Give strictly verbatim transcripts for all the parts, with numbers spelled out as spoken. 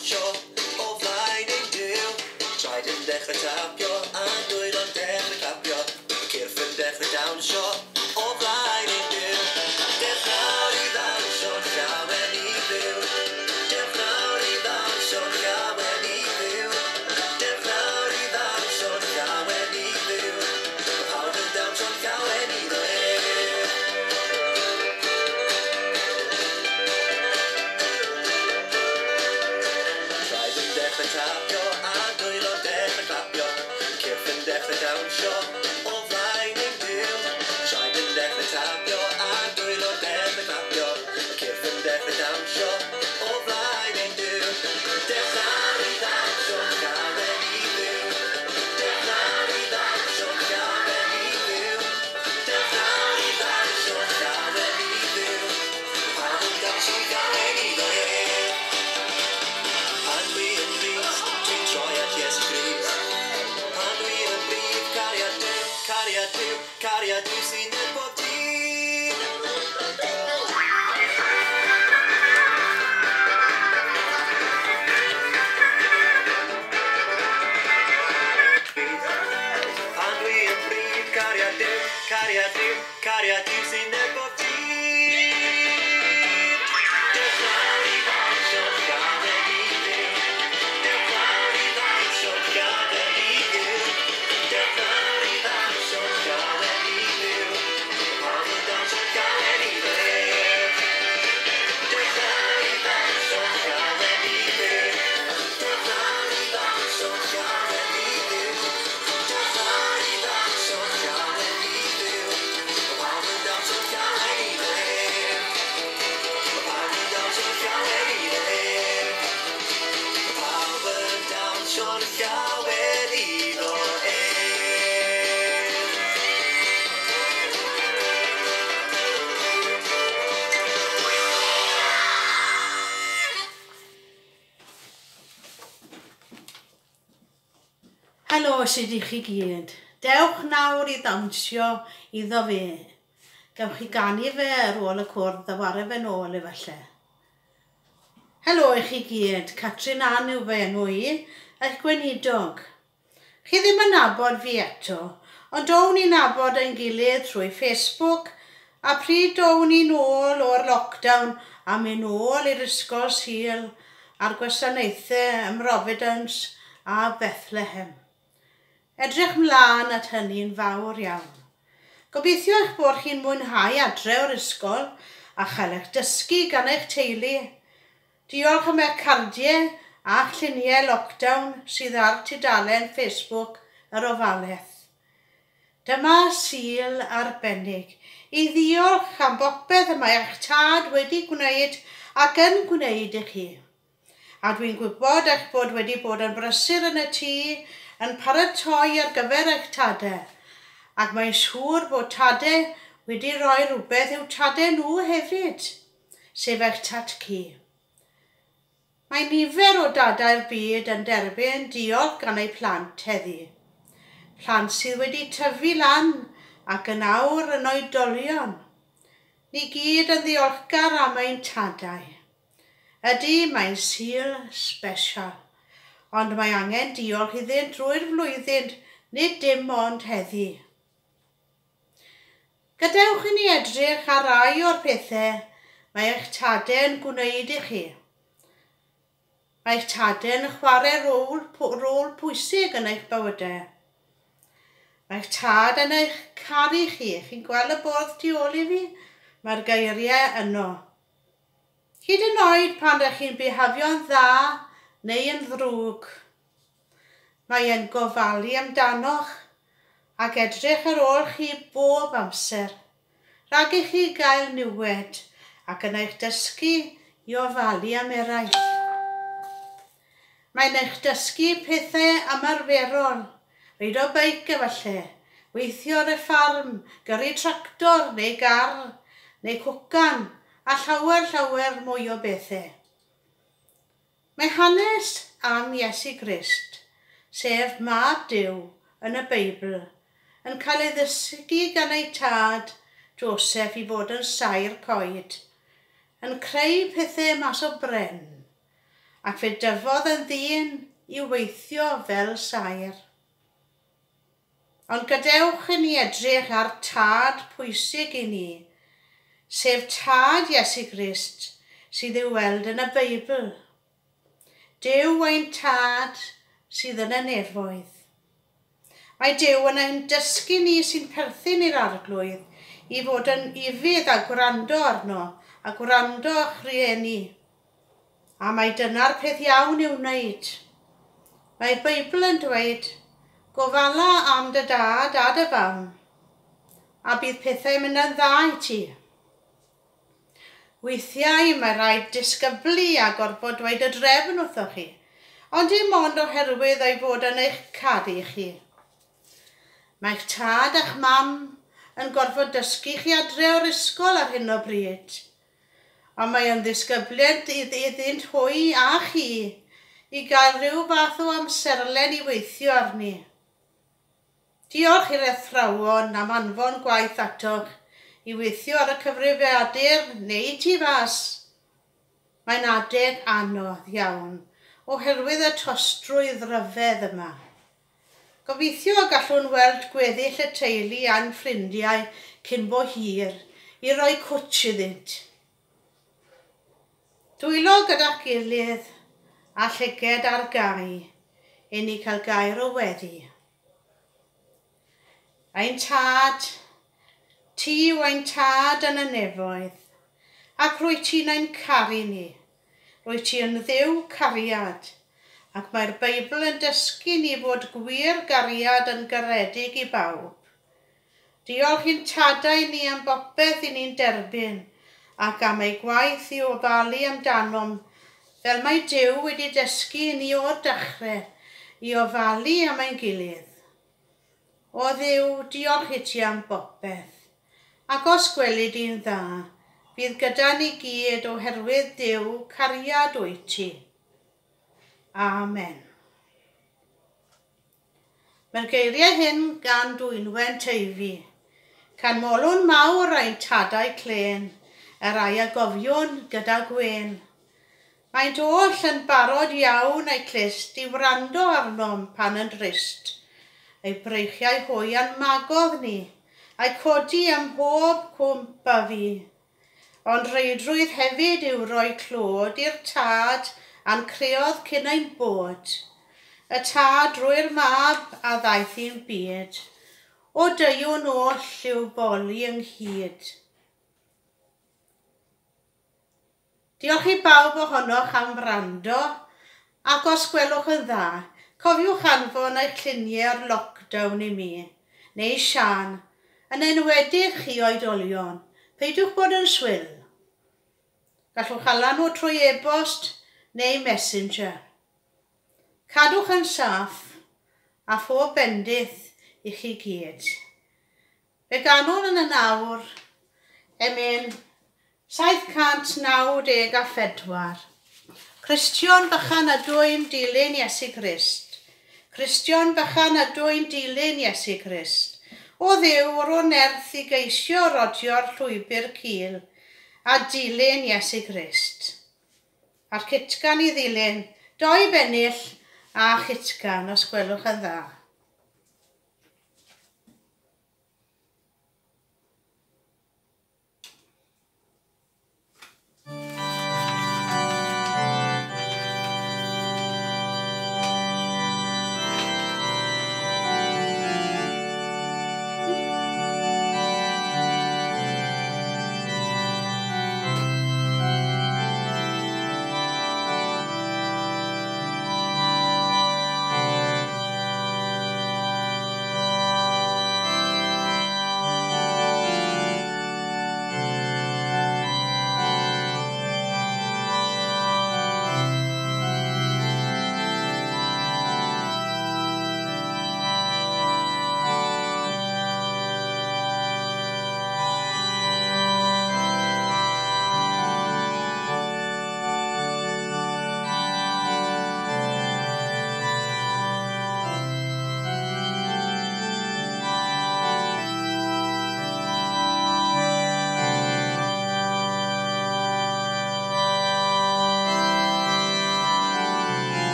dawnsio o flaen ein Duw. Traed yn dechrau tapio a dwylo'n dechrau clapio. Cyrff yn dechrau dawnsio o flaen ein Duw. Dewch nawr i ddawnsio'n llawen i Dduw. Dewch nawr i ddawnsio'n llawen i Dduw. Dewch nawr i ddawnsio'n llawen i Dduw. Mae pawb yn dawnsio'n llawen iddo ef. Traed yn dechrau tapio a dwylo'n dechrau clapio. Cyrff yn dechrau dawnsio o flaen ein Duw. Traed yn dechrau tapio a dwylo'n dechrau clapio. Cyrff yn dechrau dawnsio o flaen ein Duw. Dewch nawr i ddawnsio'n llawen i Dduw. Dewch nawr i ddawnsio'n llawen i Dduw. Dewch nawr i ddawnsio'n llawen i Dduw. Pawb yn dawnsio'n llawen iddo ef. Pan dwi yn drist, dwi'n troi at Iesu Grist. Pan dwi yn brudd, cariad Duw, cariad Duw, cariad Duw sy'n neb bob dydd. Pan dwi yn brudd, cariad Duw, cariad Duw, cariad Duw sy'n neb bob dydd. Dewch nawr i ddawnsio'n llawen i Dduw. Dewch nawr i ddawnsio'n llawen i Dduw. Dewch nawr i ddawnsio'n llawen i Dduw. Mae pawb yn dawnsio'n llawen iddo ef. Dewch nawr i ddawnsio'n llawen i Dduw. Dewch nawr i ddawnsio'n llawen i Dduw. Dewch nawr i ddawnsio'n llawen i Dduw. Mae pawb yn dawnsio'n llawen iddo ef. Mae pawb yn dawnsio'n llawen iddo ef. Mae pawb yn dawnsio'n llawen iddo ef. Helo, sut ych chi gyd? Dewch nawr i ddawnsio iddo fe. Gewch chi ganu fe ar ôl y cwrdd a ware fe nôl efallai. Helo i chi gyd, Catrin Ann yw fy enw i, eich gweinidog. Chi ddim yn nabod fi eto, ond down ni'n nabod ein gilydd trwy Facebook, a pryd down ni nôl o'r lockdown a mynd nôl i'r ysgol Sul a'r gwasanaethau ym Mhrovidence a Bethlehem. Edrych mlaen at hynny'n fawr iawn. Gobeithio eich bod chi'n mwynhau adre o'r ysgol a chael eich dysgu gan eich teulu. Diolch am eich cardiau a'ch lluniau lockdown sydd ar tudalen Facebook yr ofalaeth. Dyma Sul arbennig i ddiolch am bopeth y mae eich tad wedi gwneud ac yn gwneud i chi. A dwi'n gwybod eich bod wedi bod yn brysur yn y tŷ yn paratoi ar gyfer eich tadau, ac mae'n siŵr bod tadau wedi rhoi rhywbeth i'w tadau nhw hefyd, sef eich tad-cu. Mae nifer o dadau'r byd yn derbyn diolch gan eu plant heddi. Plant sydd wedi tyfu lan ac yn awr yn oedolion. Ni gyd yn ddiolchgar am ein tadau. Ydy, mae'n Sul special, ond mae angen diolch iddynt drwy'r flwyddyn, nid dim ond heddi. Gadewch i ni edrych ar rai o'r pethau mae eich tadau'n gwneud i chi. Mae eich tadau'n chwarae rôl, rôl pwysig yn eich bywydau. Mae eich tad yn eich caru chi. Chi'n gweld y bwrdd tu ôl i fi? Mae'r geiriau yno. Hyd yn oed pan ydych chi'n bihafio'n dda neu yn ddrwg. Mae e'n gofalu amdanoch ac edrych ar ôl chi bob amser, rhag i chi gael niwed ac yn eich dysgu i ofalu am eraill. Mae'n eich dysgu pethau ymarferol, reido beic efallai, weithio ar y ffarm, gyrru tractor neu gar neu cwcan, a llawer llawer mwy o bethau. Mae hanes am Iesu Grist, sef Mab Duw yn y Beibl, yn cael ei ddysgu gan ei tad, Joseph, i fod yn saer coed, yn creu pethau mas o bren, ac fe dyfodd yn ddyn i weithio fel saer. Ond gadewch i ni edrych ar tad pwysig i ni, sef tad Iesu Grist sydd i'w weld yn y Beibl. Duw ein tad sydd yn y nefoedd. Mae Duw yn ein dysgu ni sy'n perthyn i'r Arglwydd i fod yn ufudd a gwrando arno a gwrando a'ch rhieni. A mae dyna'r peth iawn i'w wneud. Mae'r Beibl yn dweud, gofala am dy dad a dy fam, a bydd pethau'n mynd yn dda i ti. Weithiau mae rhaid disgyblu a gorfod dweud y drefn wrthoch chi, ond dim ond oherwydd ei fod yn eich caru chi. Mae'ch tad a'ch mam yn gorfod dysgu chi adre o'r ysgol ar hyn o bryd, ond mae yn ddisgybliad iddynt hwy a chi i gael rhyw fath o amserlen i weithio arni. Diolch i'r athrawon am anfon gwaith atoch i weithio ar y cyfrifiadur neu tu fas. Mae'n adeg anodd iawn oherwydd y tostrwydd ryfedd yma. Gobeithio y gallwn weld gweddill y teulu a'n ffrindiau cyn bo hir i roi cwtsh iddynt. Dwylo gyda'ch gilydd a llyged ar gau i ni cael gair o weddi. Ein tad, ti yw ein tad yn y nefoedd, ac rwy ti'n ein caru ni. Rwy ti yn Dduw cariad, ac mae'r Beibl yn dysgu ni fod gwir gariad yn garedig i bawb. Diolch i'n tadau ni am bopeth i ni'n derbyn, ac am ei gwaith i ofalu amdanom, fel mae Duw wedi dysgu ni o'r dechrau i ofalu am ein gilydd. O Dduw, diolch i ti am bopeth, ac os gweli di'n dda, bydd gyda ni gyd oherwydd Duw cariad wyt ti. Amen. Mae'r geiriau hyn gan Dwynwen Teifi. Canmolwn mawr ein tadau clên, yr ai a gofiwn gyda gwên. Maent oll yn barod iawn eu clust i wrando arnom pan yn drist. Eu breichiau hwy a'n magodd ni, a'i codi ym mhob cwmp a fi. Ond reidrwydd hefyd yw rhoi clod i'r tad a'n creodd cyn ein bod. Y tad drwy'r mab a ddaeth i'n byd. O deuwn oll i'w boli ynghyd. Diolch i bawb ohonoch am wrando, ac os gwelwch yn dda, cofiwch anfon eich lluniau o'r lockdown i mi, neu Sian, yn enwedig chi oedolion, peidiwch bod yn swil. Gallwch hala nhw trwy e-bost neu messenger. Cadwch yn saff a phob bendith i chi gyd. Fe ganwn yn y nawr, emyn saith cant naw deg a phedwar. Cristion bychan ydw i'n dilyn Iesu Grist. Cristion bychan ydw i'n dilyn Iesu Grist. O Dduw, ro nerth i geisio rodio'r llwybr cul a dilyn Iesu Grist. A'r cytgan i ddilyn, doi bennill a chytgan os gwelwch yn dda. Thank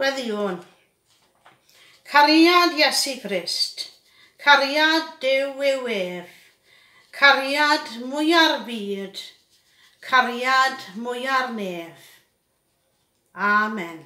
Gweddïwn. Cariad Iesu Grist, cariad Duw yw ef, cariad mwya'r byd, cariad mwya'r nef. Amen.